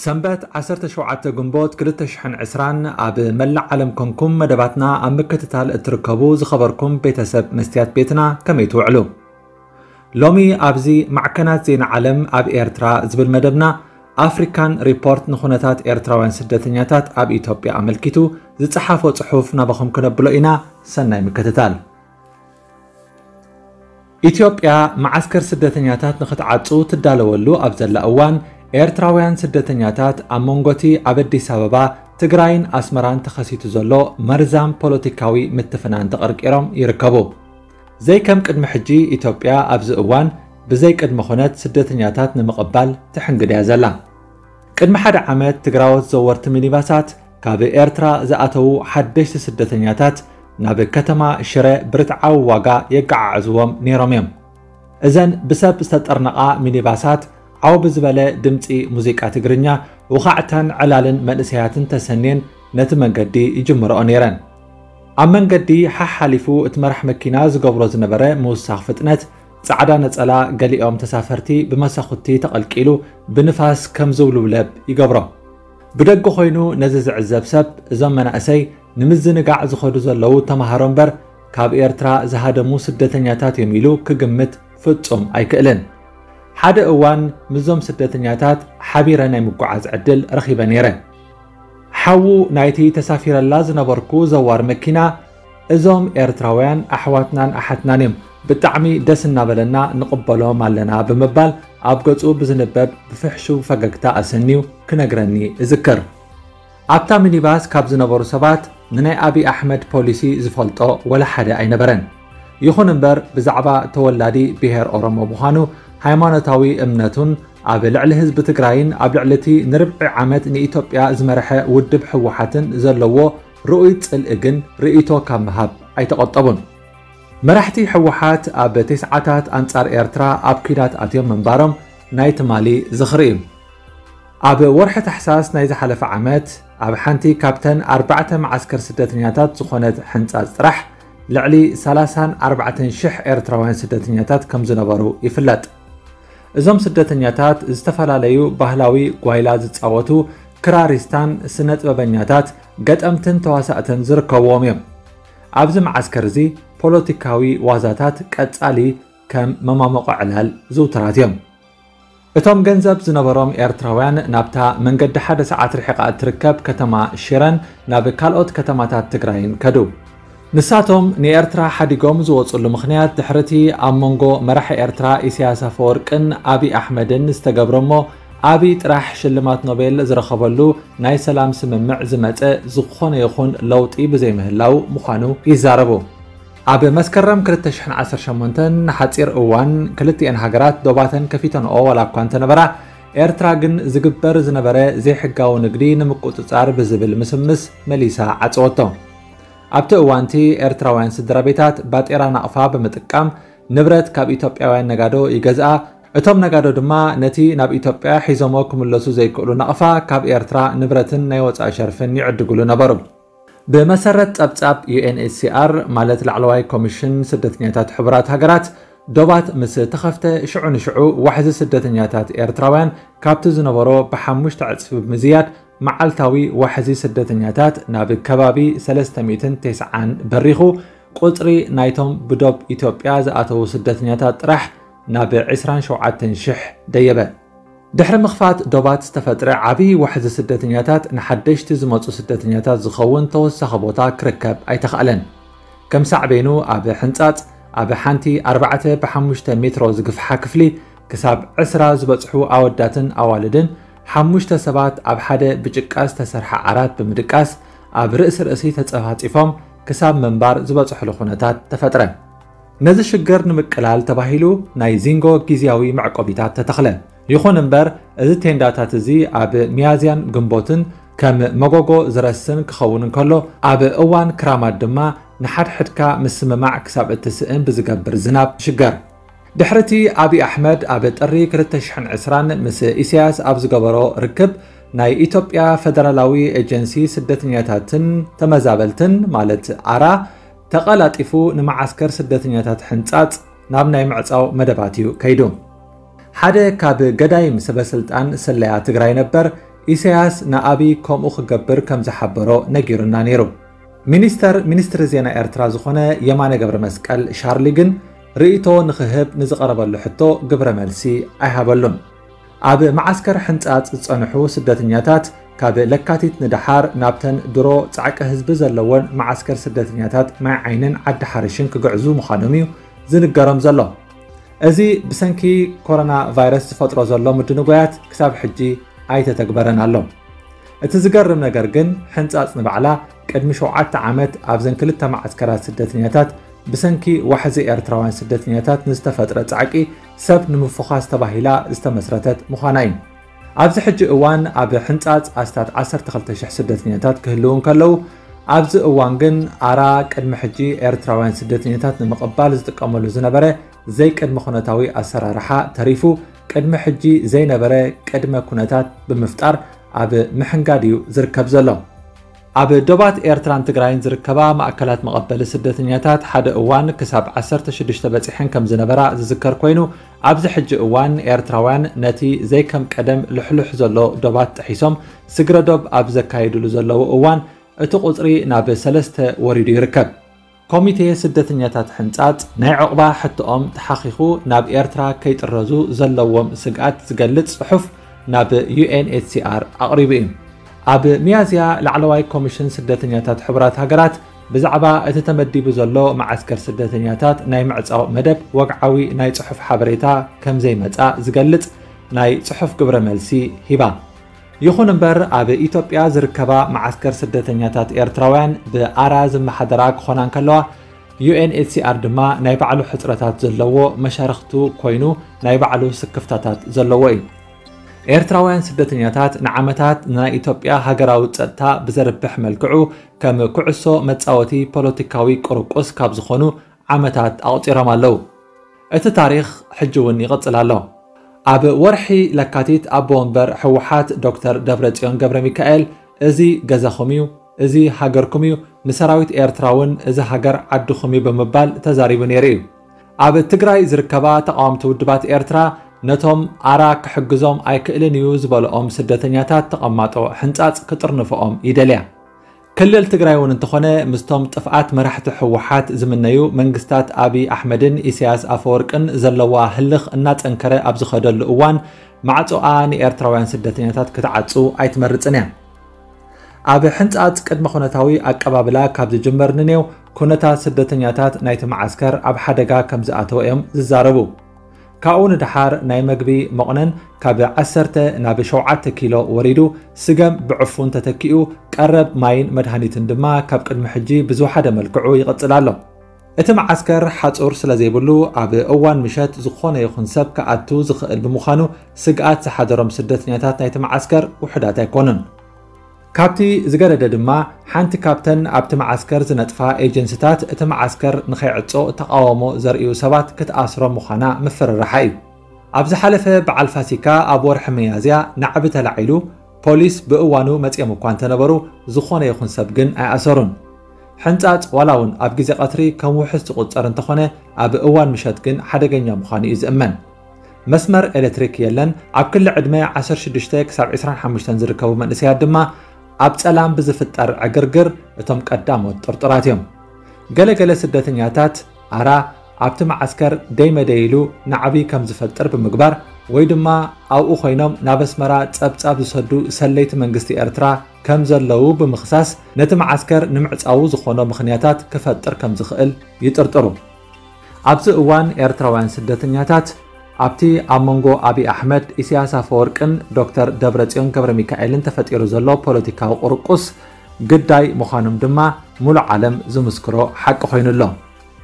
ሰንበት ዓሰርተ ሸውዓተ ግንቦት ክልተ ሽሕን ዕስራን ኣብ መላእ ዓለም ኮንኩም መደባትና ኣብ ምክትታል እትርከቡ ዝኸበርኩም ቤተሰብ መስትያት ቤትና ከመይ ትውዕሉ? ሎሚ ኣብዚ ማዕከናት ዜና ዓለም ኣብ ኤርትራ ዝብል መደብና ኣፍሪካን ሪፖርት ንኹነታት ኤርትራውያን ስደተኛታት ኣብ ኢትዮጵያ ኣመልኪቱ ዝጸሓፎ ጽሑፍ ናባኹም ክነብሎ ኢና። ሰናይ ምክትታል። ኢትዮጵያ መዓስከር ስደተኛታት ንኽትዓጹ ትዳለወሉ ኣብ ዘላ እዋን፣ ኤርትራውያን ስደተኛታት ኣብ መንጎቲ ኣብ ኣዲስ ኣበባ፣ ትግራይን ኣስመራን ተኸሲቱ ዘሎ መርዛም ፖለቲካዊ ምትፍናን ተቐርቂሮም ይርከቡ። ዘይከም ቅድሚ ሕጂ ኢትዮጵያ ኣብዚ እዋን ብዘይ ቅድመ ኩነት ስደተኛታት ንምቕባል ትሕንግድ እያ ዘላ። ቅድሚ ሓደ ዓመት ትግራዎት ዘወርቲ ሚኒባሳት ካብ ኤርትራ ዝኣተዉ ሓደሽቲ ስደተኛታት ናብ ከተማ ሽረ ብርትዓዊ ዋጋ የገዓዕዝዎም ነይሮም እዮም። እዘን ብሰብ ዝተጠርነቓ ሚኒባሳት ዓው ብዝበለ ድምጺ ሙዚቃ ትግርኛ፣ ውኻዕታን ዕላልን መንእሰያትን ተሰንየን ነቲ መንገዲ ይጅምርኦ ነይረን። ኣብ መንገዲ ሓሓሊፉ እቲ መራሕ መኪና ዝገብሮ ዝነበረ ምውሳኽ ፍጥነት፣ ጻዕዳ ነጸላ ገሊኦም ተሳፈርቲ ብመሳኹቲ ተቐልቂሉ ብንፋስ ከም ዝውልብለብ ይገብሮ። ብደገ ኮይኑ ነዚ ዝዕዘብ ሰብ፣ እዞም መናእሰይ ንምዝንጋዕ ዝኸዱ ዘለዉ ተማሃሮ እምበር ካብ ኤርትራ ዝሃደሙ ስደተኛታት እዮም ኢሉ ክግምት ፍጹም ኣይክእልን። ሓደ እዋን ምስዞም ስደተኛታት ሓቢረ ናይ ምጉዓዝ ዕድል ረኺበ ነይረ። ሓዉ ናይቲ ተሳፊረላ ዝነበርኩ ዘዋር መኪና፣ "እዞም ኤርትራውያን ኣሕዋትናን ኣሓትናን እዮም፣ ብጣዕሚ ደስ እናበለና ንቕበሎም ኣለና" ብምባል ኣብ ገጹ ብዝንበብ ብፍሕሹው ፈገግታ ኣሰንዩ ክነግረኒ እዝክር። ኣብታ ሚኒባስ ካብ ዝነበሩ ሰባት ንናይ ኣብይ ኣሕመድ ፖሊሲ ዝፈልጦ ወላ ሓደ ኣይነበረን። ይኹን እምበር ብዛዕባ ተወላዲ ብሄር ኦሮሞ ምዃኑ፣ ሃይማኖታዊ እምነቱን ኣብ ልዕሊ ህዝቢ ትግራይን ኣብ ልዕሊ እቲ ንርብዒ ዓመት ንኢትዮጵያ ዝመርሐ ውድብ ህወሓትን ዘለዎ ርኡይ ጽልኢ ግን ርእይቶ ካብ ምሃብ ኣይተቖጠቡን። መራሕቲ ህወሓት ኣብ ተስዓታት ኣንጻር ኤርትራ ኣብ ኲናት ኣትዮም ምንባሮም ናይ ትማሊ ዝኽሪ እዩ። ኣብ ወርሒ ታሕሳስ ናይ ዝሓለፈ ዓመት ኣብ ሓንቲ ካብተን ኣርባዕተ መዓስከር ስደተኛታት ዝኾነት ሕንጻጽ ጥራሕ ልዕሊ ሰላሳን ኣርባዕተን ሽሕ ኤርትራውያን ስደተኛታት ከም ዝነበሩ ይፍለጥ። እዞም ስደተኛታት ዝተፈላለዩ ባህላዊ ጓይላ ዝጻወቱ ክራሪስታን ስነ ጥበበኛታት፣ ገጠምትን ተዋሳእትን ዝርከብዎም እዮም። ኣብዚ መዓስከር እዚ ፖለቲካዊ ዋዛታት ቀጻሊ ከም መማሞቆ ዕላል ዝውቱራት እዮም። እቶም ገንዘብ ዝነበሮም ኤርትራውያን ናብታ መንገዲ ሓደ ሰዓት ርሒቓ እትርከብ ከተማ ሽረን ናብ ካልኦት ከተማታት ትግራይን ከዱ። ንሳቶም ንኤርትራ ሓዲጎም ዝወጽሉ ምኽንያት ድሕርቲ ኣብ መንጎ መራሒ ኤርትራ ኢሳያስ ኣፈወርቅን ኣብይ ኣሕመድን ዝተገብረ እሞ ኣብይ ጥራሕ ሽልማት ኖቤል ዝረኸበሉ ናይ ሰላም ስምምዕ ዝመጸ ዝኾነ ይኹን ለውጢ ብዘይምህላው ምዃኑ ይዛረቡ። ኣብ መስከረም ክልተ ሽሕን ዓሰርተ ሸሞንተን ንሓጺር እዋን ክልቲኤን ሃገራት ዶባተን ከፊተንኦ ዋላ እኳ እንተነበራ፣ ኤርትራ ግን ዝግበር ዝነበረ ዘይሕጋዊ ንግዲ ንምቁጽጻር ብዝብል ምስምስ መሊሳ ዓጸወቶ። ኣብቲ እዋንቲ ኤርትራውያን ስድራ ቤታት ባጤራ ናቕፋ ብምጥቃም ንብረት ካብ ኢትዮጵያውያን ነጋዶ ይገዝኣ፣ እቶም ነጋዶ ድማ ነቲ ናብ ኢትዮጵያ ሒዞሞ ክምለሱ ዘይክእሉ ናቕፋ ካብ ኤርትራ ንብረትን ናይ ወጻኢ ሸርፍን ይዕድግሉ ነበሩ። ብመሰረት ጸብጻብ ዩ ኤን ኤች ሲ ኣር፣ ማለት ላዕለዋይ ኮሚሽን ስደተኛታት ሕቡራት ሃገራት፣ ዶባት ምስ ተኸፍተ ሽዑ ንሽዑ ዋሕዚ ስደተኛታት ኤርትራውያን ካብቲ ዝነበሮ ብሓሙሽተ ዕጽፊ ብምዝያድ መዓልታዊ ዋሕዚ ስደተኛታት ናብ ከባቢ ሰለስተ ሚእትን ተስዓን በሪኹ፣ ቁጽሪ ናይቶም ብዶብ ኢትዮጵያ ዝኣተዉ ስደተኛታት ጥራሕ ናብ ዕስራን ሸውዓተን ሽሕ ደየበ። ድሕሪ ምኽፋት ዶባት ዝተፈጥረ ዓብዪ ዋሕዚ ስደተኛታት ንሓደሽቲ ዝመጹ ስደተኛታት ዝኸውን ተወሳኺ ቦታ ክርከብ ኣይተኻእለን። ከም ሳዕቤኑ ኣብ ሕንጻጽ ኣብ ሓንቲ ኣርባዕተ ብሓሙሽተ ሜትሮ ዝግፍሓ ክፍሊ ክሳብ ዕስራ ዝበጽሑ ኣወዳትን ኣዋልድን ሓሙሽተ ሰባት ኣብ ሓደ ብጭቃ ዝተሰርሐ ዓራት ብምድቃስ ኣብ ርእሲ ርእሲ ተጸፋጺፎም ክሳብ ምንባር ዝበጽሕሉ ኩነታት ተፈጥረ። ነዚ ሽግር ንምቅላል ተባሂሉ ናይ ዚንጎ ግዝያዊ መዕቆቢታት ተተኽለ። ይኹን እምበር፣ እዚ ቴንዳታት እዚ ኣብ ሚያዝያን ግንቦትን ከም መጎጎ ዝረስን ክኸውን እንከሎ፣ ኣብ እዋን ክራማት ድማ ንሓድሕድካ ምስምማዕ ክሳብ እትስእን ብዝገብር ዝናብ ይሽገር። ድሕርቲ ኣብይ ኣሕመድ ኣብ ጥሪ ክልተ ሽሕን ዕስራን ምስ ኢሳያስ ኣብ ዝገበሮ ርክብ፣ ናይ ኢትዮጵያ ፈደራላዊ ኤጀንሲ ስደተኛታትን ተመዛበልትን ማለት ኣራ ተቐላጢፉ ንመዓስከር ስደተኛታት ሕንጻጽ ናብ ናይ ምዕጻው መደባት እዩ ከይዱ። ሓደ ካብ ገዳይም ሰበስልጣን ስለያ ትግራይ ነበር ኢሳያስ ንኣብይ ከምኡ ክገብር ከም ዝሓበሮ ነጊሩና ነይሩ። ሚኒስተር ሚኒስትሪ ዜና ኤርትራ ዝኾነ የማነ ገብረ መስቀል ሻርሊ ግን ርእይቶ ንኽህብ ንዝቐረበሉ ሕቶ ግብረ መልሲ ኣይሃበሉን። ኣብ መዓስከር ሕንጻጽ ዝጸንሑ ስደተኛታት ካብ ለካቲት ንደሓር ናብተን ድሮ ጻዕቂ ህዝቢ ዘለወን መዓስከር ስደተኛታት ማይ ዓይንን ዓዲ ሓርሽን ክግዕዙ ምዃኖም እዩ ዝንገሮም ዘሎ። እዚ ብሰንኪ ኮሮና ቫይረስ ዝፈጥሮ ዘሎ ምድንጓያት ክሳብ ሕጂ ኣይተተግበረን ኣሎ። እቲ ዝገርም ነገር ግን ሕንጻጽ ንባዕላ ቅድሚ ሸውዓተ ዓመት ኣብዘን ክልተ መዓስከራት ስደተኛታት ብሰንኪ ዋሕዚ ኤርትራውያን ስደተኛታት ንዝተፈጥረ ጻዕቂ ሰብ ንምፍዃስ ተባሂላ ዝተመስረተት ምዃና እዩ። ኣብዚ ሕጂ እዋን ኣብ ሕንጻጽ ኣስታት ዓሰርተ ክልተ ሽሕ ስደተኛታት ክህልዉ እንከለዉ፣ ኣብዚ እዋን ግን ኣራ ቅድሚ ሕጂ ኤርትራውያን ስደተኛታት ንምቕባል ዝጥቀመሉ ዝነበረ ዘይቅድመ ኩነታዊ ኣሰራርሓ ተሪፉ፣ ቅድሚ ሕጂ ዘይነበረ ቅድመ ኩነታት ብምፍጣር ኣብ ምሕንጋድ እዩ ዝርከብ ዘሎ። ኣብ ዶባት ኤርትራን ትግራይን ዝርከባ ማእከላት መቐበሊ ስደተኛታት ሓደ እዋን ክሳብ ዓሰርተ ሽዱሽተ በጺሐን ከም ዝነበራ ዝዝከር ኮይኑ፣ ኣብዚ ሕጂ እዋን ኤርትራውያን ነቲ ዘይከም ቀደም ልሕሉሕ ዘሎ ዶባት ጥሒሶም ስግረ ዶብ ኣብ ዘካይድሉ ዘለዉ እዋን፣ እቲ ቁጽሪ ናብ ሰለስተ ወሪዱ ይርከብ። ኮሚቴ ስደተኛታት ሕንጻጽ ናይ ዕቑባ ሕቶኦም ተሓኺኹ ናብ ኤርትራ ከይጥረዙ ዘለዎም ስግኣት ዝገልጽ ጽሑፍ ናብ ዩ ኤን ኤች ሲ ኣር ኣቕሪቡ እዩ። ኣብ ሚያዝያ ላዕለዋይ ኮሚሽን ስደተኛታት ሕቡራት ሃገራት ብዛዕባ እቲ ተመዲቡ ዘሎ መዓስከር ስደተኛታት ናይ ምዕጻው መደብ ወግዓዊ ናይ ጽሑፍ ሓበሬታ ከም ዘይመጻ ዝገልጽ ናይ ጽሑፍ ግብረ መልሲ ሂባ። ይኹን እምበር ኣብ ኢትዮጵያ ዝርከባ መዓስከር ስደተኛታት ኤርትራውያን ብኣራ ዝመሓደራ ክኾና እንከለዋ፣ ዩ ኤን ኤች ሲ ኣር ድማ ናይ ባዕሉ ሕጽረታት ዘለዎ መሻርኽቱ ኮይኑ ናይ ባዕሉ ስክፍታታት ዘለዎ እዩ። ኤርትራውያን ስደተኛታት ንዓመታት ናይ ኢትዮጵያ ሃገራዊ ጸጥታ ብዘርብሕ መልክዑ ከም ኩዕሶ መጻወቲ ፖለቲካዊ ቁርቁስ ካብ ዝኾኑ ዓመታት ኣቑጺሮም ኣለዉ። እቲ ታሪኽ ሕጂ እውን ይቕጽል ኣሎ። ኣብ ወርሒ ለካቲት ኣቦ ወንበር ህወሓት ዶክተር ደብረጽዮን ገብረ ሚካኤል፣ "እዚ ገዛኹም እዩ፣ እዚ ሃገርኩም እዩ፣ ንሰራዊት ኤርትራ እውን እዚ ሃገር ዓድኹም እዩ" ብምባል ተዛሪቡ ነይሩ እዩ። ኣብ ትግራይ ዝርከባ ተቓወምቲ ውድባት ኤርትራ ነቶም ኣራ ክሕግዞም ኣይክእልን እዩ ዝበልኦም ስደተኛታት ተቐማጦ ሕንጻጽ ክጥርንፍኦም ይደልያ። ክልል ትግራይ እውን እንተኾነ ምስቶም ጥፍኣት መራሕቲ ህወሓት ዝምነዩ መንግስታት ኣብይ ኣሕመድን ኢሳያስ ኣፈወርቅን ዘለዋ ህልኽ እናጸንከረ ኣብ ዝኸደሉ እዋን ማዕጾኣ ንኤርትራውያን ስደተኛታት ክትዓጹ ኣይትመርጽን እያ። ኣብ ሕንጻጽ ቅድመ ኩነታዊ ኣቀባብላ ካብ ዝጅመር ንኔው ኩነታት ስደተኛታት ናይቲ መዓስከር ኣብ ሓደጋ ከም ዝኣተወ እዮም ዝዛረቡ። ካብኡ ንደሓር ናይ መግቢ መቑነን ካብ ዓሰርተ ናብ ሸውዓተ ኪሎ ወሪዱ፣ ስገም ብዕፉን ተተኪኡ፣ ቀረብ ማይን መድሃኒትን ድማ ካብ ቅድሚ ሕጂ ብዝወሓደ መልክዑ ይቕጽል ኣሎ። እቲ መዓስከር ሓጹር ስለ ዘይብሉ፣ ኣብ እዋን ምሸት ዝኾነ ይኹን ሰብ ክኣቱ ዝኽእል ብምዃኑ፣ ስግኣት ዝሓደሮም ስደተኛታት ናይቲ መዓስከር ውሑዳት ኣይኮኑን። ካብቲ ዝገደደ ድማ፣ ሓንቲ ካብተን ኣብቲ መዓስከር ዝነጥፋ ኤጀንስታት፣ እቲ መዓስከር ንኸይዕጾ ተቓውሞ ዘርእዩ ሰባት ክትኣስሮም ምዃና ምፍርራሓ እዩ። ኣብ ዝሓለፈ በዓል ፋሲካ ኣብ ወርሒ ሚያዝያ ናዕቢ ተላዒሉ፣ ፖሊስ ብእዋኑ መጺኦም እኳ እንተነበሩ፣ ዝኾነ ይኹን ሰብ ግን ኣይኣሰሩን። ሕንጻጽ ዋላ እውን ኣብ ግዜ ቀትሪ ከም ውሑስ ዝቑጸር እንተኾነ፣ ኣብ እዋን ምሸት ግን ሓደገኛ ምዃኑ እዩ ዝእመን። መስመር ኤሌክትሪክ የለን። ኣብ ክሊ ዕድመ ዓሰርተ ሽዱሽተ ክሳብ ዕስራን ሓሙሽተን ዝርከቡ መንእሰያት ድማ ኣብ ጸላም ብዝፍጠር ዕግርግር እቶም ቀዳሞት ጥርጡራት እዮም። ገለገለ ስደተኛታት ኣራ ኣብቲ መዓስከር ደይመደይ ኢሉ ናዕቢ ከም ዝፈጥር ብምግባር ወይ ድማ ኣብኡ ኮይኖም ናብ ኣስመራ ጸብጻብ ዝሰዱ ሰለይቲ መንግስቲ ኤርትራ ከም ዘለዉ ብምኽሳስ፣ ነቲ መዓስከር ንምዕጻዉ ዝኾኖ ምኽንያታት ክፈጥር ከም ዝኽእል ይጥርጥሩ። ኣብዚ እዋን ኤርትራውያን ስደተኛታት ኣብቲ ኣብ መንጎ ኣብይ ኣሕመድ፣ ኢሳያስ ኣፈወርቅን ዶክተር ደብረጽዮን ገብረ ሚካኤልን ተፈጢሩ ዘሎ ፖለቲካዊ ቁርቁስ ግዳይ ምዃኖም ድማ ሙሉእ ዓለም ዝምስክሮ ሓቂ ኮይኑ ኣሎ።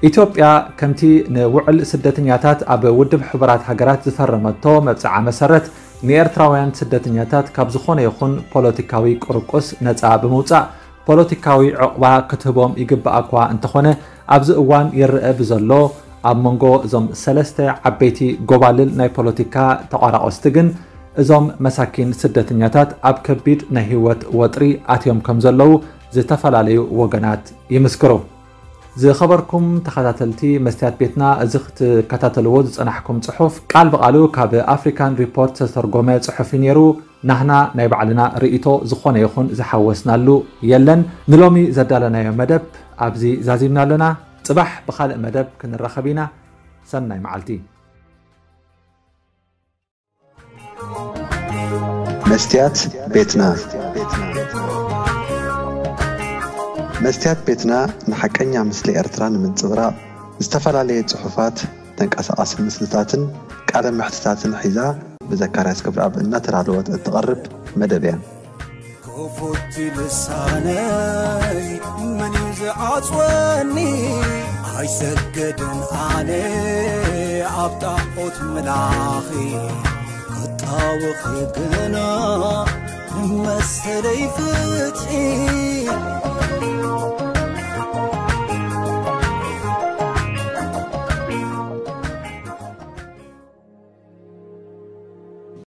ኢትዮጵያ ከምቲ ንውዕል ስደተኛታት ኣብ ውድብ ሕቡራት ሃገራት ዝፈረመቶ መብጽዓ መሰረት፣ ንኤርትራውያን ስደተኛታት ካብ ዝኾነ ይኹን ፖለቲካዊ ቁርቁስ ነጻ ብምውጻእ፣ ፖለቲካዊ ዕቑባ ክትህቦም ይግባእ እኳ እንተኾነ፣ ኣብዚ እዋን ይረአ ብዘሎ ኣብ መንጎ እዞም ሰለስተ ዓበይቲ ጎባልል ናይ ፖለቲካ ተቋራቆስቲ ግን፣ እዞም መሳኪን ስደተኛታት ኣብ ከቢድ ናይ ህይወት ወጥሪ ኣትዮም ከም ዘለዉ ዝተፈላለዩ ወገናት ይምስክሩ። ዝኸበርኩም ተኸታተልቲ መስትያት ቤትና፣ እዚ ክትከታተልዎ ዝጸናሕኩም ጽሑፍ ቃል ብቓሉ ካብ ኣፍሪካን ሪፖርት ዝተተርጎመ ጽሑፍ እዩ ነይሩ። ናህና ናይ ባዕልና ርእይቶ ዝኾነ ይኹን ዝሓወስናሉ የለን። ንሎሚ ዘዳለናዮ መደብ ኣብዚ ዛዚምና ኣለና። ጽባሕ ብኻልእ መደብ ክንራኸብ ኢና። ሰናይ መዓልቲ። መስትያት ቤትና። መስትያት ቤትና ንሓቀኛ ምስሊ ኤርትራ ንምንጽብራቕ ዝተፈላለየ ጽሑፋት፣ ተንቀሳቓሲ ምስልታትን ቃለ መሕትታትን ሒዛ ብዘካርያስ ገብረኣብ እናተዳለወት እትቐርብ መደብ እያ። ክፉት ልሳነይ መን እዩ ዝዓጽወኒ? ኣይሰገድን ኣነ ኣብ ጣዖት ምላኺ ክጣወኺ ግና ንመሰለይ ፍትሒ